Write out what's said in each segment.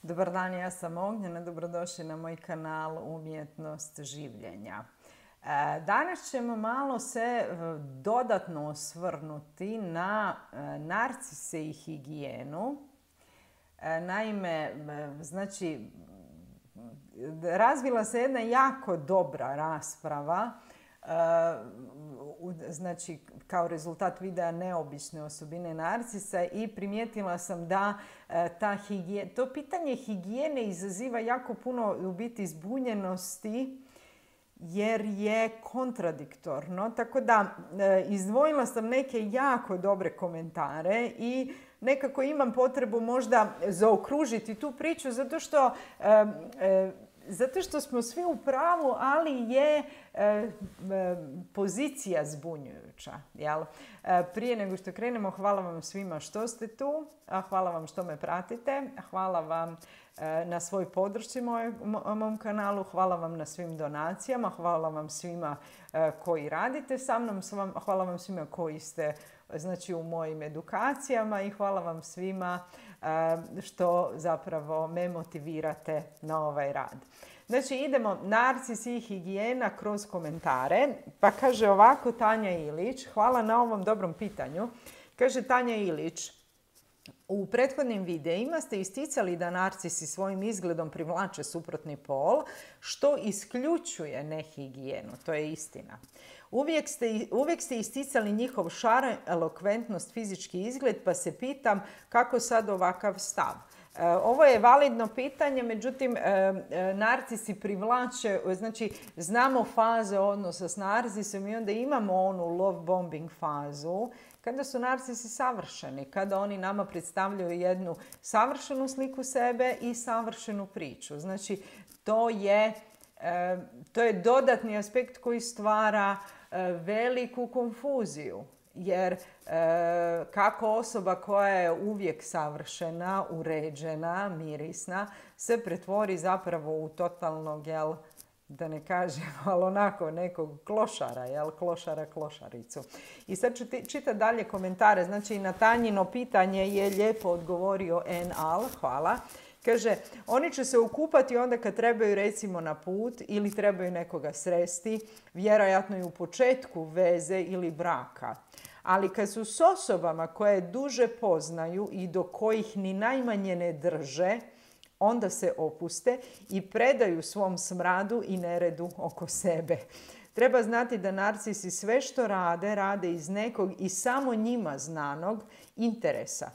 Dobar dan, ja sam Ognjena, dobrodošli na moj kanal Umjetnost življenja. Danas ćemo malo se dodatno osvrnuti na narcise i higijenu. Naime, znači, razvila se jedna jako dobra rasprava, znači kao rezultat videa neobične osobine narcisa, i primijetila sam da to pitanje higijene izaziva jako puno u biti zbunjenosti jer je kontradiktorno. Tako da izdvojila sam neke jako dobre komentare i nekako imam potrebu možda zaokružiti tu priču zato što smo svi u pravu, ali je pozicija zbunjujuća. Jel? Prije nego što krenemo, hvala vam svima što ste tu, hvala vam što me pratite, hvala vam na svoj podršci mom kanalu, hvala vam na svim donacijama, hvala vam svima koji radite sa mnom, hvala vam svima koji ste znači u mojim edukacijama i hvala vam svima što zapravo me motivirate na ovaj rad. Znači idemo narcis i higijena kroz komentare. Pa kaže ovako Tanja Ilić, hvala na ovom dobrom pitanju. Kaže Tanja Ilić, u prethodnim videima ste isticali da narcisi svojim izgledom privlače suprotni pol, što isključuje nehigijenu. To je istina. Uvijek ste isticali njihov šar, elokventnost, fizički izgled, pa se pitam kako sad ovakav stav. Ovo je validno pitanje, međutim, narcisi privlače, znači znamo faze odnosa s narcisom i onda imamo onu love bombing fazu, kada su narcisi savršeni, kada oni nama predstavljaju jednu savršenu sliku sebe i savršenu priču. Znači, to je dodatni aspekt koji stvara veliku konfuziju. Jer kako osoba koja je uvijek savršena, uređena, mirisna, se pretvori zapravo u totalnog, da ne kažem, ali onako nekog klošara, klošaricu. I sad ću čitati dalje komentare. Znači, na Tanjino pitanje je lijepo odgovorio N.Al, hvala. Kaže, oni će se okupati onda kad trebaju recimo na put ili trebaju nekoga sresti, vjerojatno i u početku veze ili braka. Ali kad su s osobama koje duže poznaju i do kojih ni najmanje ne drže, onda se opuste i predaju svom smradu i neredu oko sebe. Treba znati da narcisi sve što rade iz nekog i samo njima znanog interesa.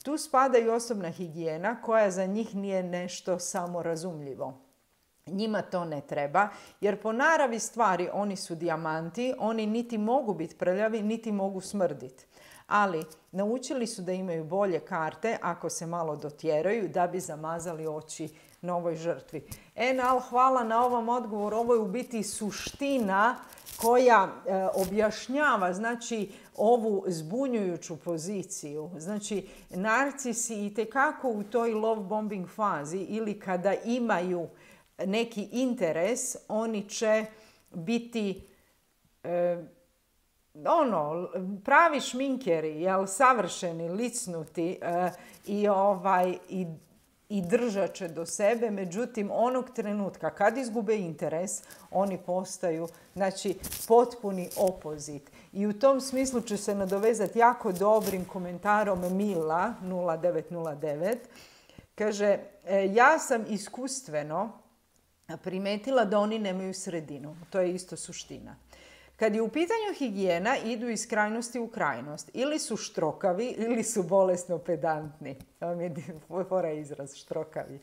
Tu spada i osobna higijena koja za njih nije nešto samorazumljivo. Njima to ne treba jer po naravi stvari oni su dijamanti, oni niti mogu biti prljavi, niti mogu smrditi. Ali naučili su da imaju bolje karte ako se malo dotjeraju da bi zamazali oči novoj žrtvi. Enal, hvala na ovom odgovoru. Ovo je u biti suština koja objašnjava znači ovu zbunjujuću poziciju. Znači, narcisi itekako u toj love bombing fazi ili kada imaju neki interes, oni će biti pravi šminkeri, savršeni, licnuti i držat će do sebe. Međutim, onog trenutka kad izgube interes, oni postaju znači potpuni opozit. I u tom smislu ću se nadovezati jako dobrim komentarom Mila 0909. Kaže, ja sam iskustveno primetila da oni nemaju sredinu. To je isto suština. Kad je u pitanju higijena, idu iz krajnosti u krajnost. Ili su štrokavi, ili su bolesno pedantni. To mi je fora izraz, štrokavi.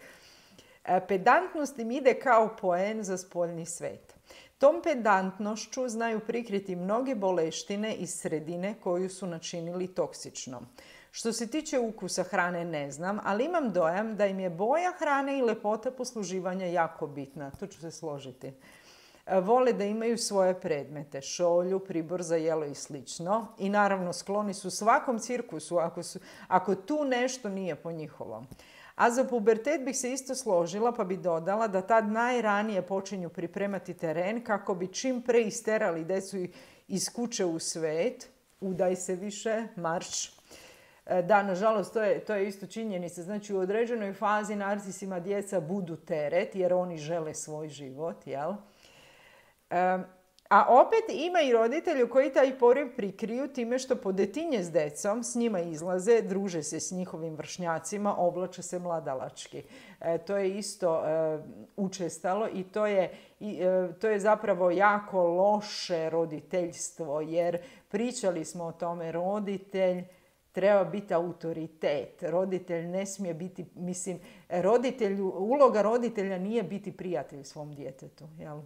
Pedantnost im ide kao poen za spoljni svet. Tom pedantnošću znaju prikriti mnoge boleštine iz sredine koju su načinili toksičnom. Što se tiče ukusa hrane ne znam, ali imam dojam da im je boja hrane i lepota posluživanja jako bitna. Tu ću se složiti. Vole da imaju svoje predmete, šolju, pribor za jelo i slično. I naravno skloni su svakom cirkusu ako tu nešto nije po njihovom. A za pubertet bih se isto složila pa bi dodala da tad najranije počinju pripremati teren kako bi čim pre isterali decu iz kuće u svet. Udaj se više, marš. Da, nažalost, to je isto činjenica. Znači, u određenoj fazi narcisima djeca budu teret jer oni žele svoj život, jel? A opet ima i roditelji koji taj poriv prikriju time što podetinje s decom, s njima izlaze, druže se s njihovim vršnjacima, oblače se mladalački. To je isto učestalo i to je zapravo jako loše roditeljstvo, jer pričali smo o tome, roditelj treba biti autoritet. Roditelj ne smije biti, uloga roditelja nije biti prijatelj svom djetetu, jel?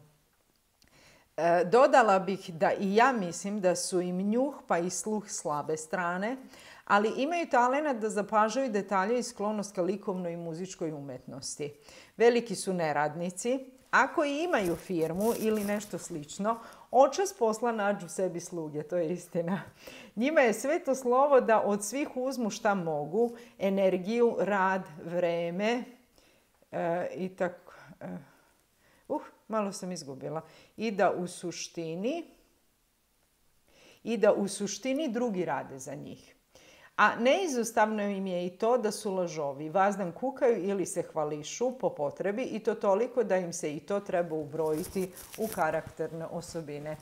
Dodala bih da i ja mislim da su im njuh pa i sluh slabe strane, ali imaju talent da zapažaju detalje i sklonost ka likovnoj i muzičkoj umjetnosti. Veliki su neradnici. Ako i imaju firmu ili nešto slično, očas posla nađu sebi sluge, to je istina. Njima je sveto slovo da od svih uzmu šta mogu, energiju, rad, vreme i tako. Malo sam izgubila. I da u suštini drugi rade za njih. A neizostavno im je i to da su lažovi. Vazdan kukaju ili se hvališu po potrebi i to toliko da im se i to treba ubrojiti u karakterne osobine.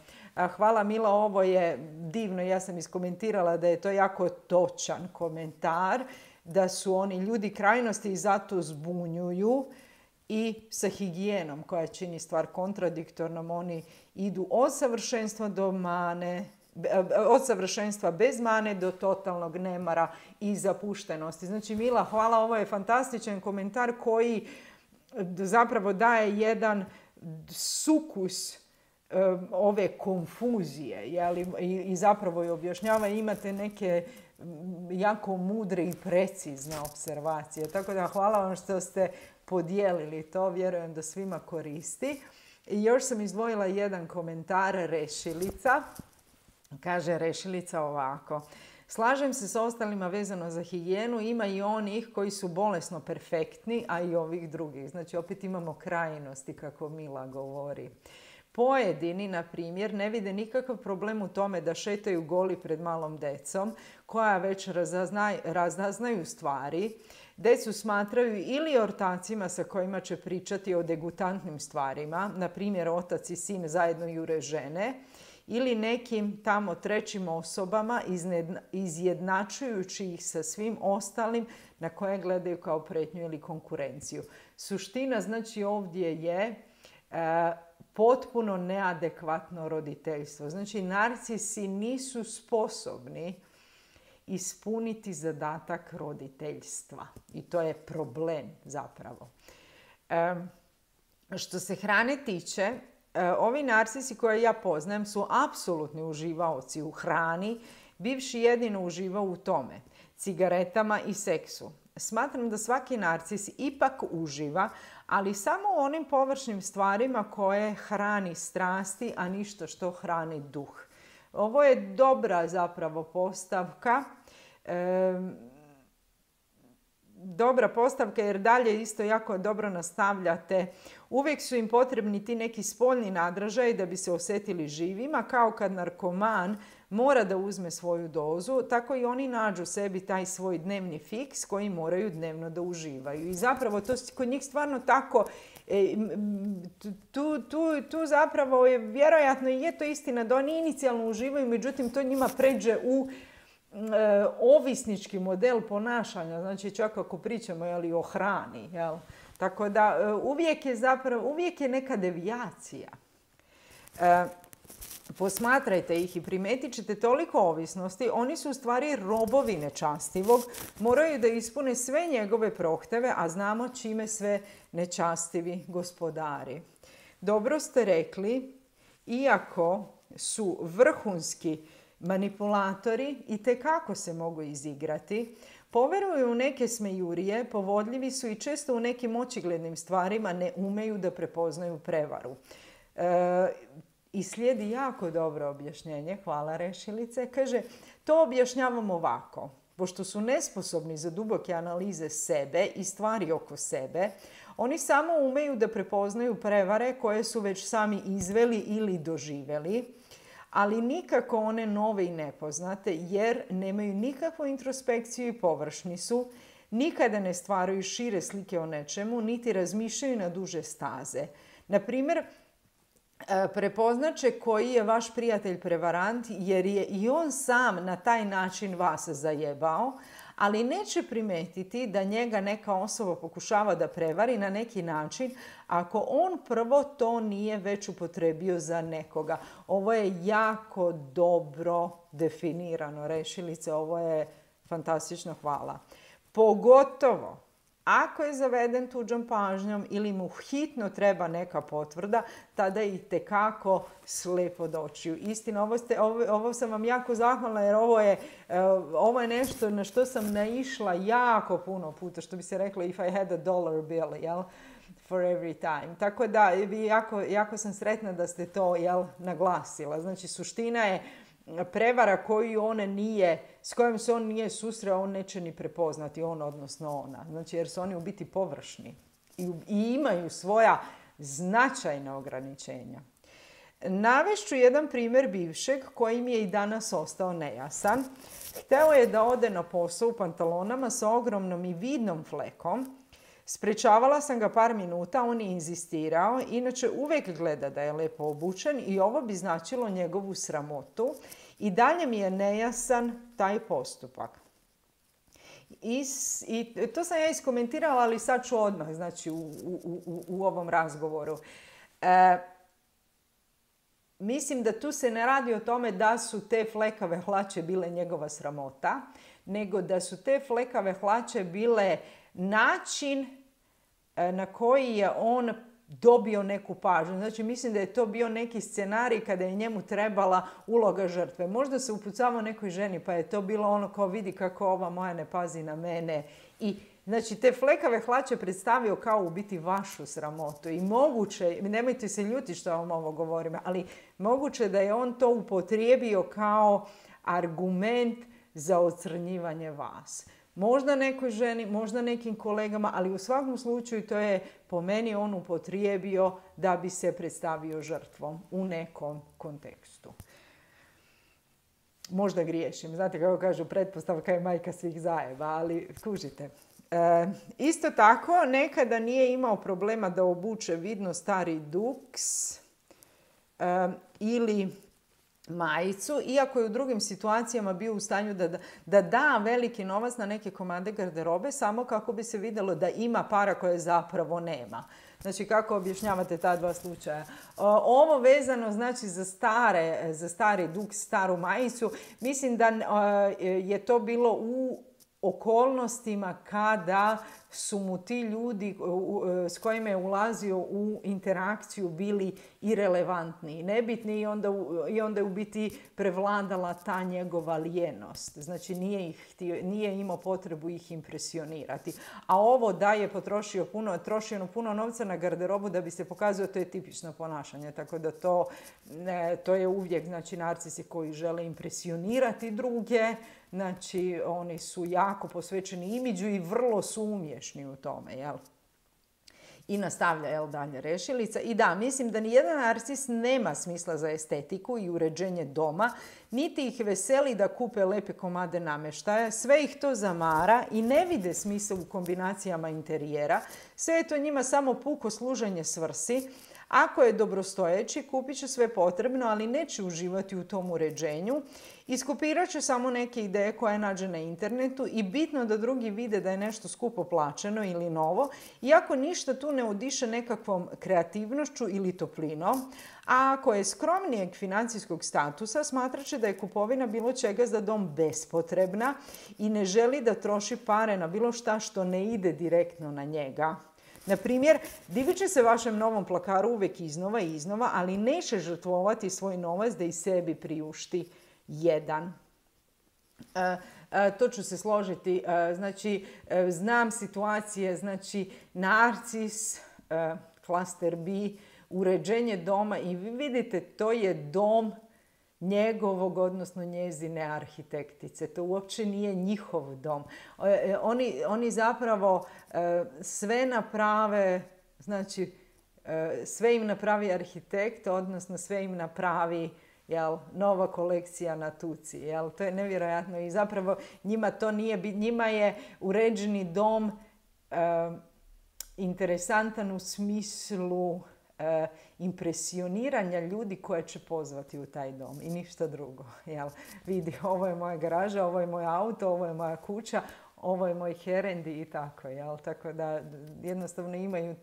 Hvala Mila, ovo je divno. Ja sam iskomentirala da je to jako točan komentar, da su oni ljudi krajnosti i zato zbunjuju. I sa higijenom koja čini stvar kontradiktornom, oni idu od savršenstva do mane, od savršenstva bez mane do totalnog nemara i zapuštenosti. Znači, Mila, hvala, ovo je fantastičan komentar koji zapravo daje jedan sukus ove konfuzije, jeli? I zapravo je objašnjava, imate neke jako mudre i precizne observacije. Tako da hvala vam što ste podijelili to, vjerujem da svima koristi. I još sam izdvojila jedan komentar Rešilica. Kaže Rešilica ovako. Slažem se s ostalima vezano za higijenu, ima i onih koji su bolesno perfektni, a i ovih drugih. Znači opet imamo krajnosti, kako Mila govori. Pojedini, na primjer, ne vide nikakav problem u tome da šetaju goli pred malom decom, koja već razaznaju stvari. Decu smatraju ili ortacima sa kojima će pričati o degutantnim stvarima, na primjer otac i sin zajedno jure žene, ili nekim tamo trećim osobama izjednačujući ih sa svim ostalim na koje gledaju kao pretnju ili konkurenciju. Suština znači ovdje je potpuno neadekvatno roditeljstvo. Znači narcisi nisu sposobni ispuniti zadatak roditeljstva. I to je problem zapravo. Što se hrane tiče, ovi narcisi koje ja poznajem su apsolutni uživaoci u hrani, bivši jedino uživao u tome, cigaretama i seksu. Smatram da svaki narcis ipak uživa, ali samo u onim površnim stvarima koje hrani strasti, a ništa što hrani duh. Ovo je dobra zapravo postavka. Dobra postavka jer dalje isto jako dobro nastavljate. Uvijek su im potrebni ti neki spoljni nadražaj da bi se osjetili živima, kao kad narkoman mora da uzme svoju dozu, tako i oni nađu sebi taj svoj dnevni fiks koji moraju dnevno da uživaju. I zapravo to kod njih stvarno tako, tu zapravo je vjerojatno i je to istina da oni inicijalno uživaju, međutim to njima pređe u ovisnički model ponašanja, znači čak ako pričamo o hrani. Jel? Tako da uvijek je neka devijacija. Posmatrajte ih i primetit ćete toliko ovisnosti, oni su u stvari robovi nečastivog, moraju da ispune sve njegove prohteve, a znamo čime sve nečastivi gospodari. Dobro ste rekli, iako su vrhunski manipulatori i tekako se mogu izigrati, poveruju u neke smejurije, povodljivi su i često u nekim očiglednim stvarima ne umeju da prepoznaju prevaru. I slijedi jako dobro objašnjenje, hvala Rešilice. Kaže, to objašnjavam ovako. Pošto su nesposobni za duboke analize sebe i stvari oko sebe, oni samo umeju da prepoznaju prevare koje su već sami izveli ili doživjeli, ali nikako one nove i nepoznate, jer nemaju nikakvu introspekciju i površni su, nikada ne stvaraju šire slike o nečemu, niti razmišljaju na duže staze. Na primjer, prepoznaće koji je vaš prijatelj prevarant, jer je i on sam na taj način vas zajebao, ali neće primetiti da njega neka osoba pokušava da prevari na neki način ako on prvo to nije već upotrebio za nekoga. Ovo je jako dobro definirano, rešilice, ovo je fantastično, hvala. Pogotovo ako je zaveden tuđom pažnjom ili mu hitno treba neka potvrda, tada je itekako slep od očiju. Istina, ovo sam vam jako zahvalna, jer ovo je nešto na što sam naišla jako puno puta, što bi se reklo if I had a dollar bill, jel? For every time. Tako da, jako sam sretna da ste to, jel, naglasila. Znači, suština je prevara s kojom se on nije susreo, on neće ni prepoznati, on odnosno ona. Znači, jer su oni u biti površni i imaju svoja značajna ograničenja. Navešću jedan primjer bivšeg koji mi je i danas ostao nejasan. Hteo je da ode na posao u pantalonama sa ogromnom i vidnom flekom. Sprečavala sam ga par minuta, on je inzistirao, inače uvijek gleda da je lepo obučen i ovo bi značilo njegovu sramotu. I dalje mi je nejasan taj postupak. I to sam ja iskomentirala, ali sad ću odmah, znači u ovom razgovoru. Mislim da tu se ne radi o tome da su te flekave hlače bile njegova sramota, nego da su te flekave hlače bile način na koji je on dobio neku pažnju. Znači, mislim da je to bio neki scenarij kada je njemu trebala uloga žrtve. Možda se upucavao nekoj ženi, pa je to bilo ono kao vidi kako ova moja ne pazi na mene. I znači, te flekave hlače predstavio kao u biti vašu sramotu. I moguće, nemojte se ljuti što vam ovo govorim, ali moguće da je on to upotrijebio kao argument za ocrnjivanje vas. Možda nekoj ženi, možda nekim kolegama, ali u svakom slučaju to je po meni on upotrijebio da bi se predstavio žrtvom u nekom kontekstu. Možda griješim. Znate kako kažu, pretpostavka je majka svih zajeba, ali kužite. Isto tako, nekada nije imao problema da obuče vidno stari duks ili majicu, iako je u drugim situacijama bio u stanju da da veliki novac na neke komade garderobe, samo kako bi se vidjelo da ima para koje zapravo nema. Znači, kako objašnjavate ta dva slučaja? Ovo vezano, znači, za stari duks, staru majicu, mislim da je to bilo u okolnostima kada su mu ti ljudi s kojima je ulazio u interakciju bili irelevantni i nebitni i onda je u biti prevladala ta njegova lijenost. Znači, nije imao potrebu ih impresionirati. A ovo da je trošio puno novca na garderobu da bi se pokazao, to je tipično ponašanje. Tako da to je uvijek, znači, narcisi koji žele impresionirati druge. Znači, oni su jako posvećeni imidžu i vrlo su umješni u tome, jel? I nastavlja, jel, dalje rešilica. I da, mislim da nijedan narcis nema smisla za estetiku i uređenje doma, niti ih veseli da kupe lepe komade namještaja. Sve ih to zamara i ne vide smisla u kombinacijama interijera. Sve je to njima samo puko služenje svrsi. Ako je dobrostojeći, kupit će sve potrebno, ali neće uživati u tom uređenju. Iskopirat će samo neke ideje koje nađe na internetu i bitno da drugi vide da je nešto skupo plaćeno ili novo, iako ništa tu ne odiše nekakvom kreativnošću ili toplinom. A ako je skromnijeg financijskog statusa, smatrat će da je kupovina bilo čega za dom bespotrebna i ne želi da troši pare na bilo šta što ne ide direktno na njega. Na primjer, divit će se vašem novom plakaru uvijek iznova, ali neće žrtvovati svoj novac da i sebi priušti jedan. To ću se složiti. Znači, znam situacije, znači, narcis, klaster B, uređenje doma i vi vidite, to je dom njegovog, odnosno njezine arhitektice. To uopće nije njihov dom. Oni zapravo sve naprave, znači sve im napravi arhitekt, odnosno sve im napravi Jel, nova kolekcija na tuci. Jel, to je nevjerojatno i zapravo njima to nije, njima je uređeni dom interesantan u smislu impresioniranja ljudi koje će pozvati u taj dom i ništa drugo. Jel, vidi, ovo je moja garaža, ovo je moj auto, ovo je moja kuća, ovo je moj herendi i tako. Jel? Tako da jednostavno imaju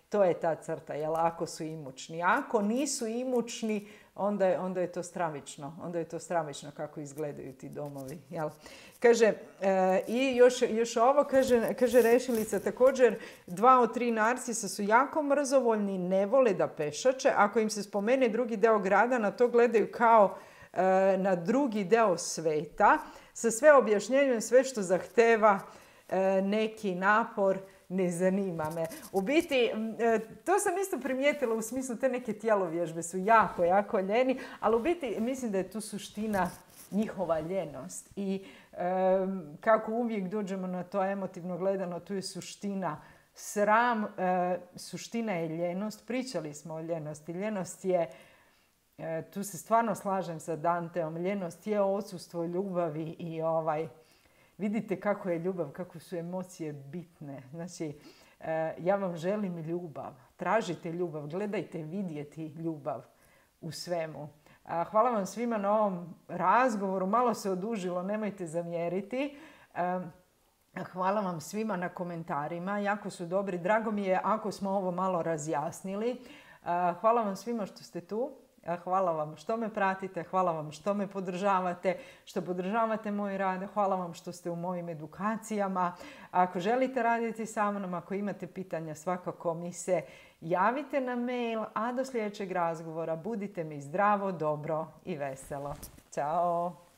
to je ta crta, jel? Ako su imućni. Ako nisu imućni, onda je to stravično. Onda je to stravično kako izgledaju ti domovi. Jel? Kaže, i još ovo, kaže Rešilica, također 2 od 3 narcisa su jako mrzovoljni, ne vole da pešače. Ako im se spomene drugi deo grada, na to gledaju kao na drugi deo sveta, sa sve objašnjenjem, sve što zahteva neki napor, ne zanima me. U biti, to sam isto primijetila u smislu te neke tjelovježbe su jako, jako ljeni, ali u biti mislim da je tu suština njihova ljenost. I kako uvijek dođemo na to emotivno gledano, tu je suština sram, suština je ljenost. Pričali smo o ljenosti. Ljenost je, tu se stvarno slažem sa Danteom, ljenost je odsustvo ljubavi i vidite kako je ljubav, kako su emocije bitne. Znači, ja vam želim ljubav. Tražite ljubav, gledajte vidjeti ljubav u svemu. Hvala vam svima na ovom razgovoru. Malo se odužilo, nemojte zamjeriti. Hvala vam svima na komentarima. Jako su dobri. Drago mi je ako smo ovo malo razjasnili. Hvala vam svima što ste tu. Hvala vam što me pratite, hvala vam što me podržavate, što podržavate moj rad, hvala vam što ste u mojim edukacijama. Ako želite raditi sa mnom, ako imate pitanja, svakako mi se javite na mail, a do sljedećeg razgovora budite mi zdravo, dobro i veselo. Ćao!